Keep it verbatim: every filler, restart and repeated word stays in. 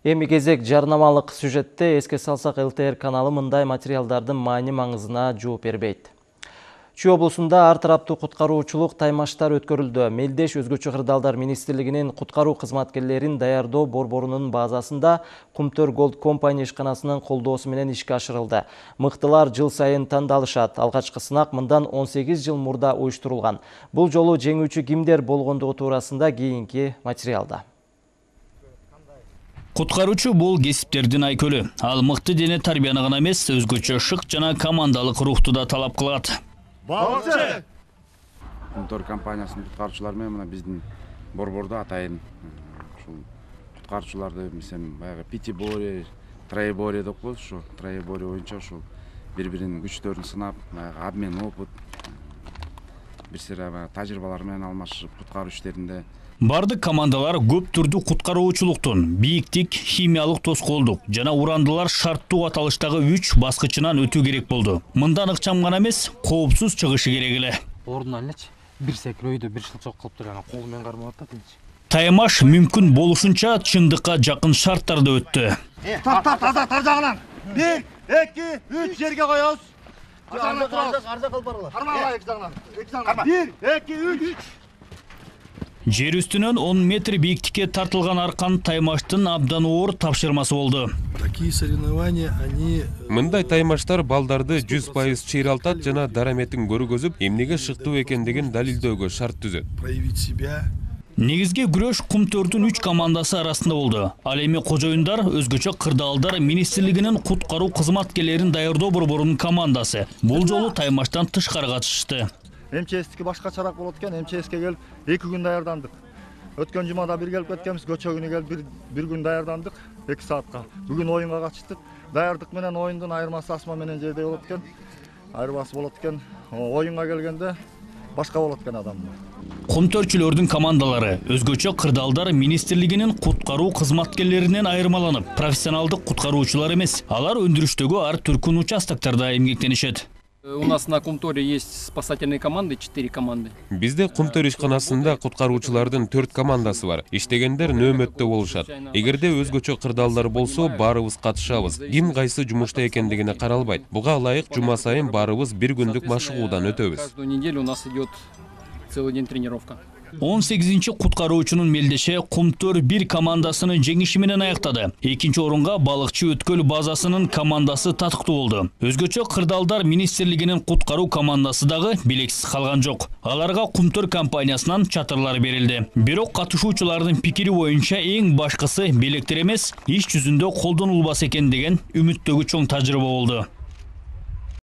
Эми кезек жарнамалык сюжетте эске салсак, эл тэ эр каналы мындай материалдардын маани маңызына жооп бербейт. Чүй облусунда ар тараптуу куткаруучулук таймаштар өткөрүлдү. Мелдеш Өзгөчө кырдаалдар министрлигинин куткаруу кызматкерлерин даярдоо борборунун базасында Кумтөр Голд Компани ишканасынын колдоосу менен ишке ашырылды. Мыктылар жыл сайын тандалышат. Алгачкы сынак мындан он сегиз жыл мурда уюштурулган. Бул жолу жеңүүчү кимдер болгондугу туурасында кийинки материалда. Куткаруучу бул кесиптердин айкөлү. Ал мыкты дене тарбияны гана эмес, өзгөчө шык жана командалык рухту да талап кылат. Балчы! Кумтөр компаниясынын куткаруучулары менен мына биздин борбордо атайын ушул куткаруучуларды мисем баягы пятиборье, троеборье деп коебуз, ушу троеборье боюнча ушул бири-биринин күчтөрүн сынап, баягы обмен опыт, бир сыйра тажрыйбалар менен алмашып куткаруу иштеринде. Бардык командалар көп түрдүү куткаруучулуктун бийиктик, химиялык тоскоолдук жана урандылар шарттуу аталыштагы үч баскычынан өтүү керек болду. Мындан ыкчам гана эмес, коопсуз чыгышы керек эле. Ордуна элечи, бир секирөөдө бир шылчок кылып туруп жана кол менен кармап атат элечи. Таймаш мүмкүн болушунча чындыкка жакын шарттарда өттү. Тарт, тарт, тарт, тарт жагынан. бир, эки, үч жерге коебуз. Арза, арза, арза кылып баралы. Кармала эки жагынан. эки жагынан. бир, эки, үч. Жер үстүнөн он метр бийиктикке тартылган аркан Таймаштын абдан оор тапшырмасы болду. Такие соревнования, они... Мындай таймаштар балдарды жүз пайыз чыйралтат жана дараметин көргөзүп, эмнеге шыктуу экендигин далилдөөгө шарт түзөт. Проявить себя. Негизги күрөш Кумтөрдүн үч командасы арасында болду. Ал эми кожоюндар Өзгөчө кырдаалдар министрлигинин куткаруу кызматкерлерин даярдоо борборунун командасы. Бул жолу Таймаштан тышкары катышты. эм че эстики башкачараак болот экен. эм че эске келип эки күн даярдандык. Өткөн жумада бир келип кеткенбиз, көчө күнү келип бир бир күн даярдандык, эки саатка. Бүгүн оюнга катыштык. Даярдык менен оюндун айырмасы асма менен жердей болот экен. Айырмасы болот экен. Оюнга келгенде башка болот экен адам. Кумтөрчүлөрдүн командалары Өзгөчө кырдаалдар министрлигинин куткаруу кызматкерлеринен айырмаланып, профессионалдык куткаруучулар эмес. Алар өндүрүштөгү ар түркүн участоктарда эмгектенишет. У нас на Кумторе есть спасательные команды, четыре команды. Бизде Кумтөр ишканасында куткаруучулардын төрт командасы бар. Иштегендер нөөмөттө болушат. Эгерде өзгөчө кырдаалдар болсо, баарыбыз катышабыз. Ким кайсы жумушта экендигине каралбайт. Буга ылайык жума сайын баарыбыз бир күндүк машыгуудан өтөбүз. Каждую неделю у нас идет целый день тренировка. он сегизинчи куткаруучунун мелдеше Кумтөр бир командасынын жеңиши менен аяктады. Экинчи орунга балыкчы Өткөл базасынын командасы татыктуу болду. Өзгөчө кырдаалдар министрлигинин куткаруу командасы дагы белексиз калган жок. Аларга Кумтөр компаниясынан чатырлар берилди. Бирок катышуучулардын пикири боюнча эң башкысы белектер эмес, иш жүзүндө колдонулбас экен деген үмүттөгү чоң тажрыйба болду.